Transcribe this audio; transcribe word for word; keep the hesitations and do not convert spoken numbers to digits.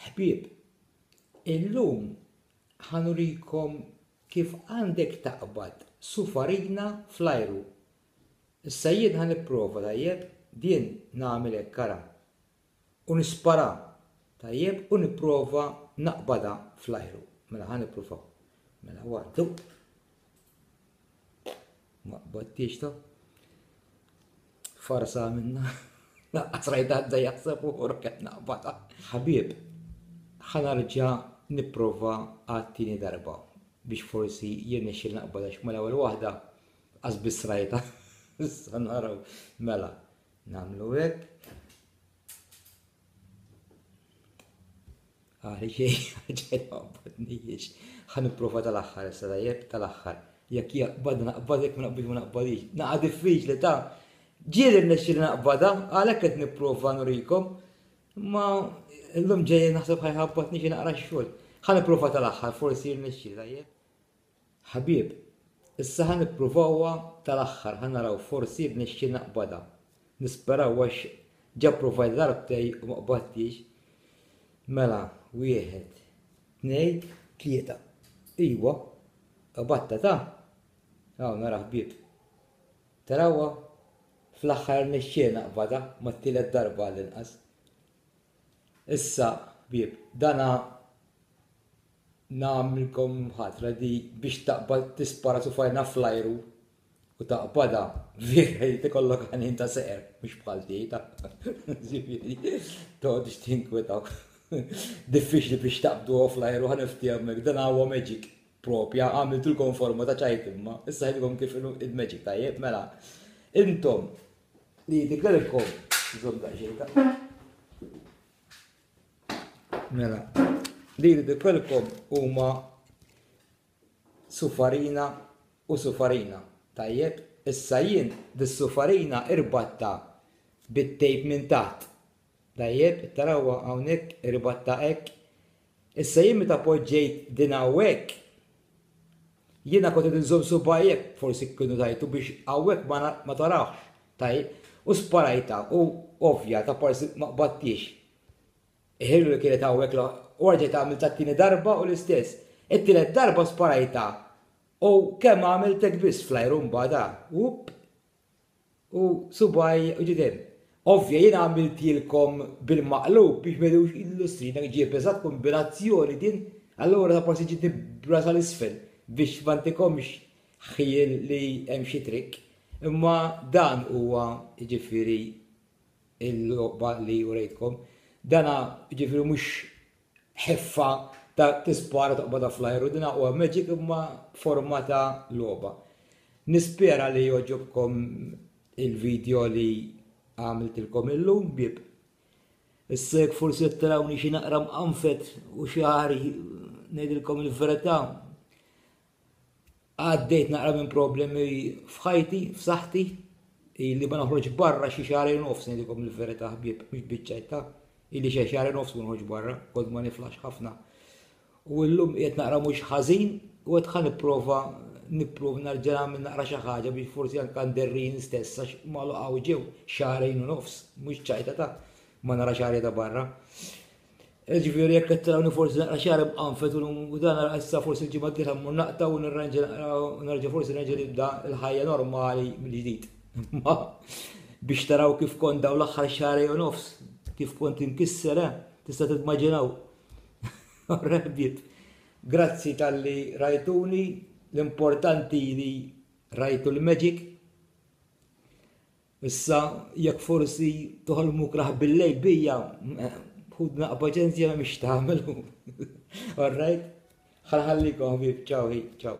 Ħbieb, illum ħa nurikom kif għandek taqbad sufarina fl-ajru. Issa jien ħa nipprova, tajjeb, din nagħmel hekk, ara. U nispara, tajjeb, u nipprova naqbadha fl-ajru. Mela ħa nippruvaw. Mela waħdu. Ma qbadtix ta'. Farsa minna. Naqqas rajta għadda jaħseb u kemm naqbadha. Ħbieb, ħa nerġa' nipprova għat-tieni darba biex forsi jirnexxieli naqbadha għax mal-ewwel waħda qas biss rajta. Issa naraw. Mela, nagħmlu hekk. Għali xejn, ġej ma qbadnijiex. Ħa nipprova tal-aħħar issa, tajjeb, tal-aħħar. Jekk jaqbad naqbad, jekk ma naqbadx ma naqbadix. Naqa' diffiċli ta' ġieli rnexxieli naqbadha, għalhekk qed nipprova nurikom. Ma llum ġejjin naħseb ħajħabbatni xi naqra x-xogħol. Ħa nipprova tal-aħħar, forsi jirnexxieli, tajjeb. Ħbieb, issa ħa nippruvawha tal-aħħar, ħa naraw forsi jirnexxieli naqbadha. Nisperaw għax ġa provajt darbtej u ma qbadtix. Mela, wieħed, tnej, tlieta. Iwa, qbadta ta'. Hawn nara ħbieb. Tarawha? Fl-aħħar rnexxieli naqbadha, mat-tielet darba għall-inqas. Issa, ħbieb, dana nagħmilkom ħatra di biex taqbad tispara sufarina fl-ajru u taqbadha, vera jrid ikollok għanin ta' seqer, mhux bħal tiegħi ta'. Ġifieri, toqgħodux tinkwetaw. Diffiċli biex taqbduha fl-ajru, ħa niftehmek, dan huwa magic propja, għamiltulkom forma ta' ċajt imma, issa ħedilkom kif inhu il-magic, tajjeb, mela. Intom li jidhirlkom, żomm daqsxejn ta'. Mela, li jridilkom huma sufarina u sufarina. Tajjeb, issa jien dis-sufarina irbatta bit-tejp minn taħt. Tajjeb, tarawha hawnhekk irbatta hekk. Issa jien meta poġġejt din hawnhekk, jiena kont qed inżomm subgħi hekk, forsi kienu tajtu biex hawnhekk ma na-, ma tarawx. Tajjeb, u sparajta u ovvja ta' parsi ma qbattix. Iħillu li kienet hawnhekk la, u rġajt għamilt tat-tieni darba u l-istess. It-tielet darba sparajta u kemm għamilt hekk biss fl-ajru mbagħad, up, u subgħi u ġiet hemm. Ovvja jien għamiltilkom bil-maqlub biex ma jidhux illustrina ġieb eżatt kombinazzjoni din, allura ta' parsi ġietni brasa l-isfel biex ma ntikomx ħjiel li hemm xi trick. Imma dan huwa jiġifieri il-logħba li urejtkom. Dana jiġifieri mhux ħeffa ta' tispara toqbadha fl-ajru, dina huwa magic imma forma ta' logħba. Nispera li jogħġobkom il-video li għamiltilkom illum, bib. Issa jekk forsi qed tarawni xi naqra mqanfet u xagħri, ngħidilkom il-verità, għaddejt naqra minn problemi f'ħajti, f'saħħti, illi ma noħroġ barra xi xahrejn nofs, ngħidilkom il-verità ħbieb, mhux biċ-ċajta, illi xi xahrejn nofs ma noħroġ barra, kont ma niflax ħafna. U llum qiegħed naqra mhux ħażin u qed ħa nipprova nipprova nerġa' nagħmel naqra xi ħaġa biex forsi anke nderrin stess għax magħluq ġew xahrejn u nofs, mhux ċajta ta' ma nara xagħri ta' barra. Ġifieri jekk qed tarawni forsi naqra xagħri mqanfet u dan nara issa forsi l-ġimgħa d-dieħla mmur naqta' u nirranġa naqra u nerġa' forsi nerġa' nibda l-ħajja normali mill-ġdid. Ma biex taraw kif kont dawn l-aħħar xahrejn u nofs, kif kont inkisser, eh, tista' timmaġinaw. Rebbiet. Grazzi talli rajtuni, l-importanti li rajtu l-magic. Issa jekk forsi toħolmu kraħ bil-lejl bija, ħudna paċenzja ma mhix tagħmlu. All right? Ħalħallikom ħbieb, ciao, ciao.